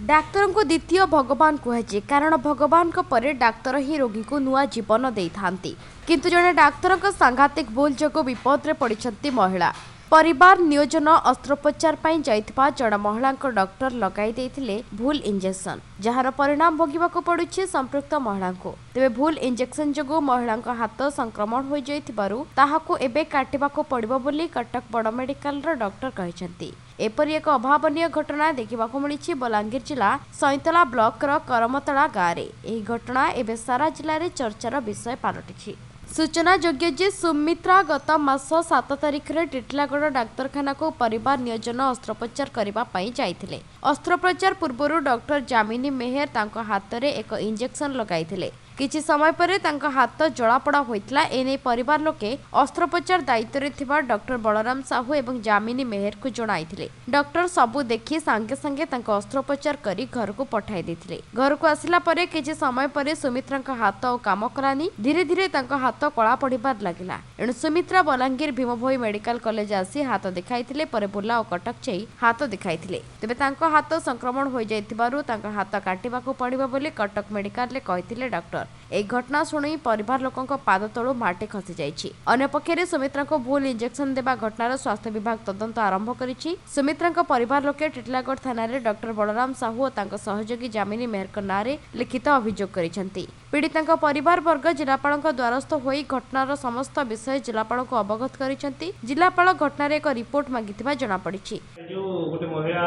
ଡାକ୍ତରଙ୍କୁ ଦ୍ୱିତୀୟ ଭଗବାନ କୁହାଯାଏ, କାରଣ ଭଗବାନଙ୍କ ପରେ ଡାକ୍ତର ହିଁ ରୋଗୀକୁ ନୂଆ ଜୀବନ ଦେଇଥାନ୍ତି। କିନ୍ତୁ ଜଣେ ଡାକ୍ତରଙ୍କ ସାଂଘାତିକ ଭୁଲ ଯୋଗୁଁ ବିପଦରେ ପଡ଼ିଛନ୍ତି ମହିଳା। ପରିବାର ନିୟୋଜନ ଅସ୍ତ୍ରୋପଚାର ପାଇଁ ଯାଇଥିବା ଜଣେ ମହିଳାଙ୍କ ଡକ୍ଟର ଲଗାଇ ଦେଇଥିଲେ ଭୁଲ ଇଞ୍ଜେକ୍ସନ, ଯାହାର ପରିଣାମ ଭୋଗିବାକୁ ପଡୁଛି ସମ୍ପୃକ୍ତ ମହିଳାଙ୍କୁ। ତେବେ ଭୁଲ ଇଞ୍ଜେକ୍ସନ ଯୋଗୁଁ ମହିଳାଙ୍କ ହାତ ସଂକ୍ରମଣ ହୋଇଯାଇଥିବାରୁ ତାହାକୁ ଏବେ କାଟିବାକୁ ପଡ଼ିବ ବୋଲି କଟକ ବଡ଼ ମେଡିକାଲର ଡକ୍ଟର କହିଛନ୍ତି। ଏପରି ଏକ ଅଭାବନୀୟ ଘଟଣା ଦେଖିବାକୁ ମିଳିଛି ବଲାଙ୍ଗୀର ଜିଲ୍ଲା ସଇଁତଲା ବ୍ଲକର କରମତଳା ଗାଁରେ। ଏହି ଘଟଣା ଏବେ ସାରା ଜିଲ୍ଲାରେ ଚର୍ଚ୍ଚାର ବିଷୟ ପାଲଟିଛି। ସୂଚନାଯୋଗ୍ୟ ଯେ ସୁମିତ୍ରା ଗତ ମାସ 7 ତାରିଖରେ ଟିଟିଲାଗଡ଼ ଡାକ୍ତରଖାନାକୁ ପରିବାର ନିୟୋଜନ ଅସ୍ତ୍ରୋପଚାର କରିବା ପାଇଁ ଯାଇଥିଲେ। ଅସ୍ତ୍ରୋପଚାର ପୂର୍ବରୁ ଡକ୍ଟର ଯାମିନୀ ମେହେର ତାଙ୍କ ହାତରେ ଏକ ଇଞ୍ଜେକ୍ସନ ଲଗାଇଥିଲେ। କିଛି ସମୟ ପରେ ତାଙ୍କ ହାତ ଜଳାପୋଡ଼ା ହୋଇଥିଲା। ଏନେଇ ପରିବାର ଲୋକେ ଅସ୍ତ୍ରୋପଚାର ଦାୟିତ୍ୱରେ ଥିବା ଡକ୍ଟର ବଳରାମ ସାହୁ ଏବଂ ଯାମିନୀ ମେହେରକୁ ଜଣାଇଥିଲେ। ଡକ୍ଟର ସବୁ ଦେଖି ସାଙ୍ଗେ ସାଙ୍ଗେ ତାଙ୍କ ଅସ୍ତ୍ରୋପଚାର କରି ଘରକୁ ପଠାଇ ଦେଇଥିଲେ। ଘରକୁ ଆସିଲା ପରେ କିଛି ସମୟ ପରେ ସୁମିତ୍ରାଙ୍କ ହାତ ଆଉ କାମ କଲାନି। ଧୀରେ ଧୀରେ ତାଙ୍କ ହାତ କଳା ପଡ଼ିବାରେ ଲାଗିଲା। ଏଣୁ ସୁମିତ୍ରା ବଲାଙ୍ଗୀର ଭୀମଭୋଇ ମେଡିକାଲ କଲେଜ ଆସି ହାତ ଦେଖାଇଥିଲେ। ପରେ ବୁର୍ଲା ଓ କଟକ ଯାଇ ହାତ ଦେଖାଇଥିଲେ। ତେବେ ତାଙ୍କ ହାତ ସଂକ୍ରମଣ ହୋଇଯାଇଥିବାରୁ ତାଙ୍କ ହାତ କାଟିବାକୁ ପଡ଼ିବ ବୋଲି କଟକ ମେଡିକାଲରେ କହିଥିଲେ ଡକ୍ଟର। ଏହି ଘଟଣା ଶୁଣି ପରିବାର ଲୋକଙ୍କ ପାଦ ତଳୁ ମାଟି ଖସିଯାଇଛି। ଅନ୍ୟପକ୍ଷରେ ସୁମିତ୍ରାଙ୍କୁ ଭୁଲ ଇଞ୍ଜେକ୍ସନ ଦେବା ଘଟଣାର ସ୍ୱାସ୍ଥ୍ୟ ବିଭାଗ ତଦନ୍ତ ଆରମ୍ଭ କରିଛି। ସୁମିତ୍ରାଙ୍କ ପରିବାର ଲୋକେ ଟିଟିଲାଗଡ଼ ଥାନାରେ ଡକ୍ଟର ବଳରାମ ସାହୁ ଓ ତାଙ୍କ ସହଯୋଗୀ ଯାମିନୀ ମେହେରଙ୍କ ନାଁରେ ଲିଖିତ ଅଭିଯୋଗ କରିଛନ୍ତି। ପୀଡ଼ିତାଙ୍କ ପରିବାର ବର୍ଗ ଜିଲ୍ଲାପାଳଙ୍କ ଦ୍ୱାରସ୍ଥ ହୋଇ ଘଟଣାର ସମସ୍ତ ବିଷୟ ଜିଲ୍ଲାପାଳଙ୍କୁ ଅବଗତ କରିଛନ୍ତି। ଜିଲ୍ଲାପାଳ ଘଟଣାରେ ଏକ ରିପୋର୍ଟ ମାଗିଥିବା ଜଣାପଡ଼ିଛି। ଯେଉଁ ଗୋଟେ ମହିଳା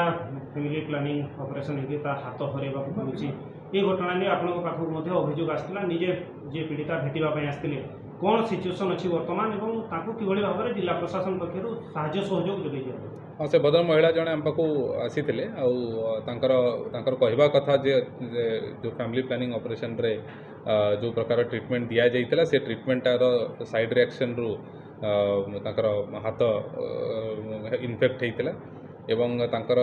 ଫ୍ୟାମିଲି ପ୍ଲାନିଂ ଅପରେସନ୍ ହେଇକି ତା ହାତ ହରାଇବାକୁ ପଡ଼ୁଛି, ଏ ଘଟଣା ନେଇ ଆପଣଙ୍କ ପାଖକୁ ମଧ୍ୟ ଅଭିଯୋଗ ଆସିଥିଲା। ନିଜେ ଯିଏ ପୀଡ଼ିତା ଭେଟିବା ପାଇଁ ଆସିଥିଲେ, କ'ଣ ସିଚୁଏସନ୍ ଅଛି ବର୍ତ୍ତମାନ ଏବଂ ତାଙ୍କୁ କିଭଳି ଭାବରେ ଜିଲ୍ଲା ପ୍ରଶାସନ ପକ୍ଷରୁ ସାହାଯ୍ୟ ସହଯୋଗ ଯୋଗାଇ ଦିଆଯିବ? ହଁ, ସେ ଭଦ୍ର ମହିଳା ଜଣେ ଆମ ପାଖକୁ ଆସିଥିଲେ ଆଉ ତାଙ୍କର କହିବା କଥା ଯେ ଯେଉଁ ଫ୍ୟାମିଲି ପ୍ଲାନିଂ ଅପରେସନରେ ଯେଉଁ ପ୍ରକାର ଟ୍ରିଟମେଣ୍ଟ ଦିଆଯାଇଥିଲା, ସେ ଟ୍ରିଟମେଣ୍ଟଟାର ସାଇଡ଼୍ ରିଆକ୍ସନରୁ ତାଙ୍କର ହାତ ଇନଫେକ୍ଟ ହେଇଥିଲା ଏବଂ ତାଙ୍କର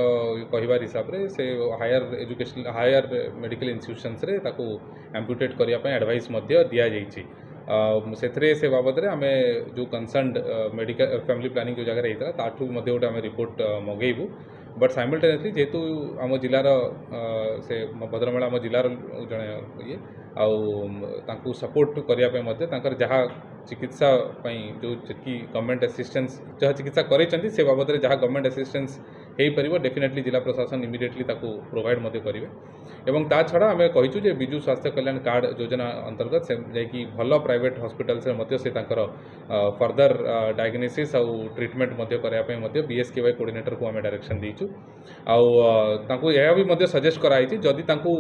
କହିବାର ହିସାବରେ ସେ ହାୟର ଏଜୁକେସନ୍, ହାୟର ମେଡ଼ିକାଲ ଇନଷ୍ଟିଟ୍ୟୁସନ୍ସରେ ତାକୁ ଆମ୍ପୁଟେଟ୍ କରିବା ପାଇଁ ଆଡ଼ଭାଇସ୍ ମଧ୍ୟ ଦିଆଯାଇଛି। ସେଥିରେ ସେ ବାବଦରେ ଆମେ ଯେଉଁ କନସର୍ଣ୍ଣ ମେଡ଼ିକାଲ, ଫ୍ୟାମିଲି ପ୍ଲାନିଂ ଯେଉଁ ଜାଗାରେ ହେଇଥିଲା, ତାଠୁ ମଧ୍ୟ ଗୋଟେ ଆମେ ରିପୋର୍ଟ ମଗେଇବୁ। ବଟ୍ ସାଇମଲ୍ଟେନିୟସଲି ଯେହେତୁ ଆମ ଜିଲ୍ଲାର ସେ ଭଦ୍ରମହିଳା ଆମ ଜିଲ୍ଲାର ଜଣେ ଇଏ, ଆଉ ତାଙ୍କୁ ସପୋର୍ଟ କରିବା ପାଇଁ ମଧ୍ୟ ତାଙ୍କର ଯାହା ଚିକିତ୍ସା ପାଇଁ ଯେଉଁ ଯେତିକି ଗଭର୍ଣ୍ଣମେଣ୍ଟ ଆସିଷ୍ଟାନ୍ସ, ଯାହା ଚିକିତ୍ସା କରାଇଛନ୍ତି, ସେ ବାବଦରେ ଯାହା ଗଭର୍ଣ୍ଣମେଣ୍ଟ ଆସିଷ୍ଟାନ୍ସ ହେଇପାରିବ, ଡେଫିନେଟଲି ଜିଲ୍ଲା ପ୍ରଶାସନ ଇମିଡ଼ିଏଟଲି ତାକୁ ପ୍ରୋଭାଇଡ଼ ମଧ୍ୟ କରିବେ। ଏବଂ ତା ଛଡ଼ା ଆମେ କହିଛୁ ଯେ ବିଜୁ ସ୍ୱାସ୍ଥ୍ୟ କଲ୍ୟାଣ କାର୍ଡ଼ ଯୋଜନା ଅନ୍ତର୍ଗତ ସେ ଯାଇକି ଭଲ ପ୍ରାଇଭେଟ୍ ହସ୍ପିଟାଲ୍ସରେ ମଧ୍ୟ ସେ ତାଙ୍କର ଫର୍ଦର ଡାଇଗ୍ନୋସିସ୍ ଆଉ ଟ୍ରିଟମେଣ୍ଟ ମଧ୍ୟ କରିବା ପାଇଁ ମଧ୍ୟ ବିଏସ୍କେୱାଇ କୋଅର୍ଡିନେଟରକୁ ଆମେ ଡାଇରେକ୍ସନ୍ ଦେଇଛୁ। ଆଉ ତାଙ୍କୁ ଏହା ବି ମଧ୍ୟ ସଜେଷ୍ଟ କରାହେଇଛି, ଯଦି ତାଙ୍କୁ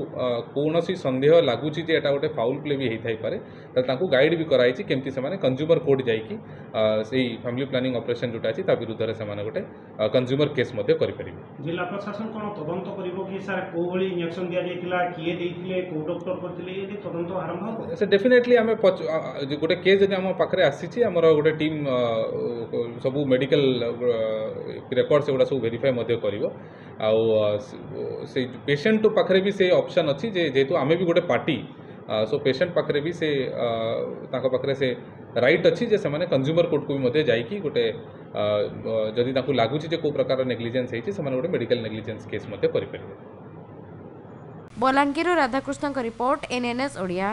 କୌଣସି ସନ୍ଦେହ ଲାଗୁଛି ଯେ ଏଇଟା ଗୋଟେ ଫାଉଲ୍ ପ୍ଲେ ବି ହେଇଥାଇପାରେ, ତାହେଲେ ତାଙ୍କୁ ଗାଇଡ଼ ବି କରାହେଇଛି କେମିତି ସେମାନେ କନଜ୍ୟୁମର କୋର୍ଟ ଯାଇକି ସେଇ ଫ୍ୟାମିଲି ପ୍ଲାନିଂ ଅପରେସନ୍ ଯେଉଁଟା ଅଛି ତା ବିରୁଦ୍ଧରେ ସେମାନେ ଗୋଟେ କନଜ୍ୟୁମର କେସ୍ ମଧ୍ୟ କରିପାରିବେ। ଜିଲ୍ଲା ପ୍ରଶାସନ କ'ଣ ତଦନ୍ତ କରିବ କି ସାର୍? କେଉଁ ଭଳି ଇଞ୍ଜେକ୍ସନ୍ ଦିଆଯାଇଥିଲା, କିଏ ଦେଇଥିଲେ, କେଉଁ ଡକ୍ଟର କରିଥିଲେ, ଏ ତଦନ୍ତ ଆରମ୍ଭ ହେବ? ସେ ଡେଫିନେଟଲି ଆମେ ଗୋଟେ କେସ୍ ଯଦି ଆମ ପାଖରେ ଆସିଛି, ଆମର ଗୋଟେ ଟିମ୍ ସବୁ ମେଡ଼ିକାଲ ରେକର୍ଡ଼ ସେଗୁଡ଼ା ସବୁ ଭେରିଫାଏ ମଧ୍ୟ କରିବ। ଆଉ ସେଇ ପେସେଣ୍ଟ ପାଖରେ ବି ସେ ଅପସନ୍ ଅଛି ଯେ ଯେହେତୁ ଆମେ ବି ଗୋଟେ ପାର୍ଟି, ସୋ ପେସେଣ୍ଟ ପାଖରେ ବି ସେ ତାଙ୍କ ପାଖରେ ସେ ରାଇଟ୍ ଅଛି ଯେ ସେମାନେ କନଜ୍ୟୁମର କୋର୍ଟକୁ ବି ମଧ୍ୟ ଯାଇକି ଗୋଟେ ଯଦି ତାଙ୍କୁ ଲାଗୁଛି ଯେ କେଉଁ ପ୍ରକାର ନେଗ୍ଲିଜେନ୍ସ ହେଇଛି, ସେମାନେ ଗୋଟେ ମେଡ଼ିକାଲ ନେଗ୍ଲିଜେନ୍ସ କେସ୍ ମଧ୍ୟ କରିପାରିବେ। ବଲାଙ୍ଗୀରରୁ ରାଧାକୃଷ୍ଣଙ୍କ ରିପୋର୍ଟ, ଏନ୍ଏନ୍ଏସ୍ ଓଡ଼ିଆ।